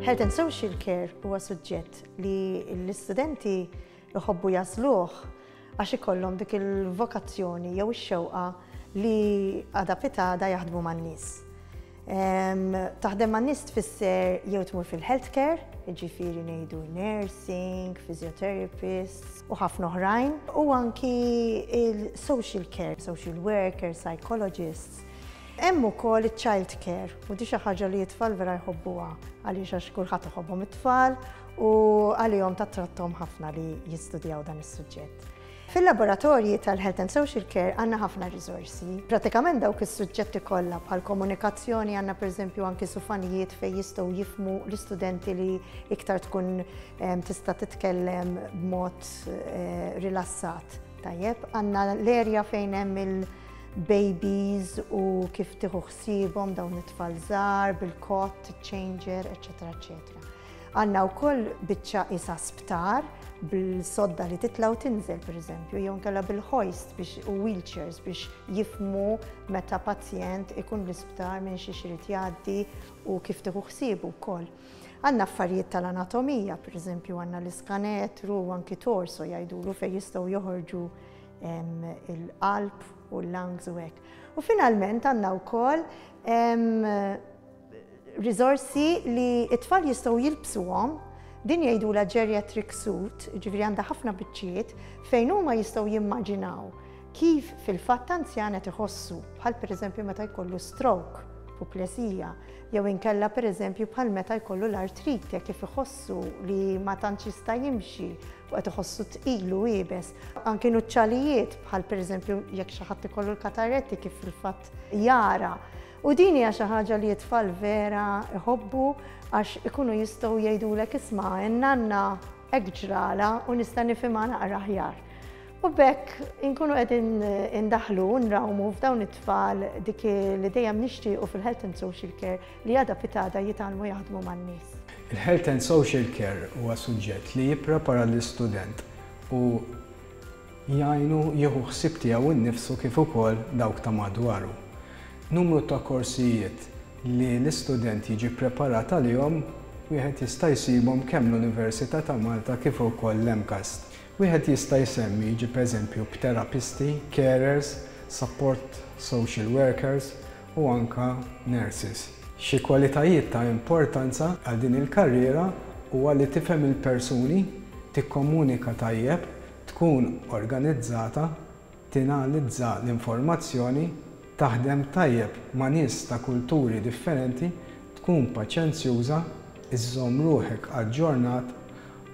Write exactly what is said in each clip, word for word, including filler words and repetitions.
Health and Social Care huwa suġġett li l-istudenti jħobbu jagħżluh għax ikollhom dik il-vokazzjoni jew ix-xewqa li għada pitgħada jaħdmu man-nies. Taħdem man-nies tfisser jew tmur fil-healthcare, jiġifieri ngħidu nursing, physiotherapists u ħafna oħrajn, u anki il-social care, social worker, psychologists. Hemm ukoll iċ-child care, u di xi ħaġa li t-tfal vera jħobbuha, għaliex għax kulħadd iħobbhom it-tfal u għalihom tattrattom ħafna li jistudjaw dan is-suġġett. Fil-laboratorji tal-Health and Social Care għandna ħafna riżorsi. Pratikament dawk is-suġġetti kollha, bħal komunikazzjoni, għandna pereżempju anki sufanijiet fejn jistgħu jifhmu l-istudenti li iktar tkun tista' titkellem b'mod eh, rilassat. Tajjeb, għandna l-erja fejn hemm il-babies u kif tieħu ħsiebhom dawn it-tfal żgħar bil-cot, changer, eċetera, eċetera. Għandna wkoll biċċa isa sptar bil-sodda li titla u tinżel, per eżempju, jew inkella bil-hoist biex u wheelchairs biex jifhmu meta pazjent ikun l-isptar minn xi irid jgħaddi u kif tieħu ħsiebu wkoll. Għandna affarijiet tal-anatomija, per eżempju, għandna l-iskanetru u anki torso jgħidulu, fejn jistgħu joħorġu il-qalb u l-lungs u hekk. U finalment għandna wkoll riżorsi li it-tfal jistgħu jilbsuhom, din jgħidula geriatric suit, ġifieri għandha ħafna biċċiet fejn huma jistgħu jimmaġinaw kif fil-fatt anzjan qed iħossu, bħal pereżempju meta jkollu stroke, puplesija, jew inkella pereżempju bħal meta jkollu l-artrite, kif iħossu li ma tantx jista' jimxi u qed iħossu tqil u iebes. Anki nuċċalijiet, bħal pereżempju jekk xi ħadd ikollu l-kataretti, kif fil-fatt jara. U din hija xi ħaġa li t-tfal vera iħobbu għax ikunu jistgħu jgħidulek, "Isma', in-nanna hekk ġrala u nista' nifhimha naqra aħjar." U b'hekk inkunu qegħdin indaħlu nrawmu f'dawn it-tfal dik li dejjem nixtiequ fil-Health and Social Care, li għada pitgħada jitgħallmu jaħdmu man-nies. Il-Health and Social Care huwa suġġett li jipprepara l-istudent u jgħinu jieħu ħsieb tiegħu nnifsu kif ukoll dawk ta' madwaru. Numru ta' korsijiet li l-istudent jiġi preparat għalihom wieħed jista' jsibhom kemm l-Università ta' Malta kif ukoll l-MCAST. Wieħed jista' jsemmi, jiġi eżempju, terapisti, carers, support social workers u anka nurses. Xi kwalitajiet ta' importanza għal din il-karriera huwa li tifhem il-persuni, tikkomunika tajjeb, tkun organizzata, tinalizza l-informazzjoni, taħdem tajjeb ma' nies ta' kulturi differenti, tkun paċenzjuża, iżżomm ruħek aġġornat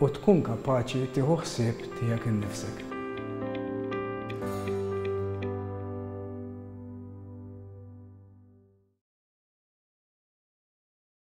u tkun kapaċi tieħu ħsieb tiegħek innifsek.